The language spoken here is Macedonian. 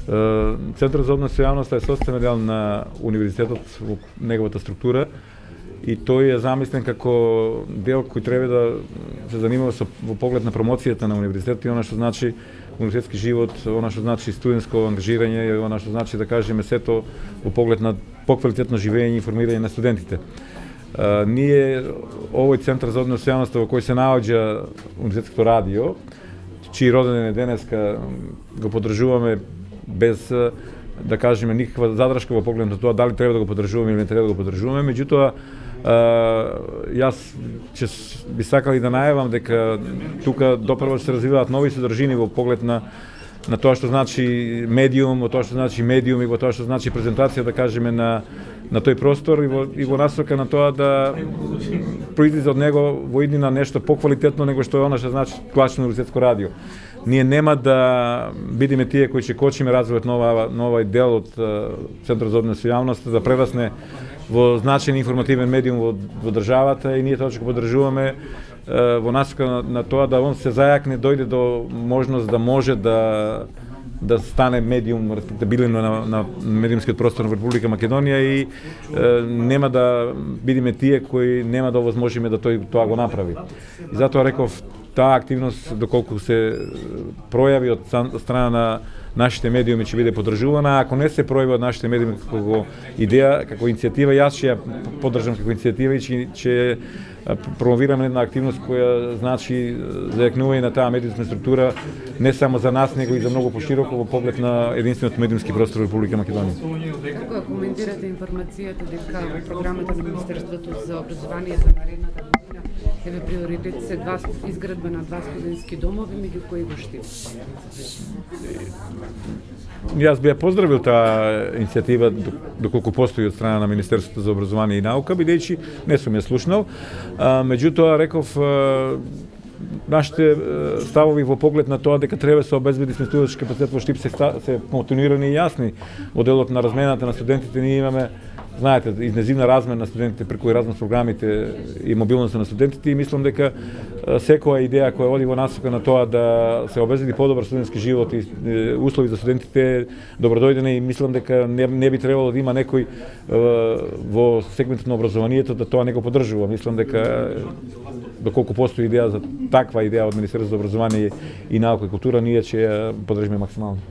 Центарот за однос со јавноста е составен дел на универзитетот во неговата структура и тој е замислен како дел кој треба да се занимава со во поглед на промоцијата на универзитетот и она што значи универзитетски живот, она што значи студентско ангажирање и она што значи да кажеме сето во поглед на поквалитетно живење и информирање на студентите. Ние овој центар за однос со јавноста во кој се наоѓа универзитетското радио, чиј роден ден е денеска, го поддржуваме без да кажеме никаква задршка во поглед на тоа дали треба да го поддржуваме или не треба да го поддржуваме. Меѓутоа, јас ќе би сакал и да најавам дека тука допрво се развиваат нови содржини во поглед на тоа што значи медиум, во тоа што значи медиум и во тоа што значи презентација, да кажеме, на тој простор и во насока на тоа да произлезе од него во иднина нешто поквалитетно него што е она што значи класично универзитетско радио. Ние нема да бидеме тие кои ќе кочиме развојот на овој дел од Центарот за однос со јавноста да прерасне во значаен информативен медиум во државата и ние тоа ќе го поддржуваме во насока на тоа да он се зајакне, дојде до можност да може да стане медиум респектабилен на медиумскиот простор на Република Македонија и нема да бидеме тие кои нема да овозможиме да тоа го направи. И затоа реков, таа активност доколку се пројави од страна на нашите медиуми ќе биде поддржувана, ако не се пројави од нашите медиуми како идеја, како иницијатива, јас ќе ја поддржам како иницијатива и ќе промовираме една активност која значи зајакнување на таа медиумска структура не само за нас, него и за многу пошироко во поглед на единствениот медиумски простор во Република Македонија. Како коментирате информацијата дека во програмата на Министерството за образование за наредната година еве приоритет се изградба на 2 студентски домови, меѓу кои го Штип? Јас би ја поздравил таа иницијатива доколку постои од страна на Министерството за образование и наука, бидејќи не сум ја слушнал. Меѓутоа реков нашите ставови во поглед на тоа дека треба се обезбеди сместувачки капацитет во Штип се континуирани и јасни. Во делот на размената на студентите ние имаме, знаете, интензивна размена на студентите преку Еразмус програмите и мобилноста на студентите и мислам дека секоја идеја која оди во насока на тоа да се обезбеди подобар студентски живот и услови за студентите добродојдена и мислам дека не би требало да има некој во сегментот на образованието да тоа не го поддржува. Мислам дека доколку постои идеја за таква идеја од Министерството за образование и наука и култура, ние ќе ја поддржиме максимално.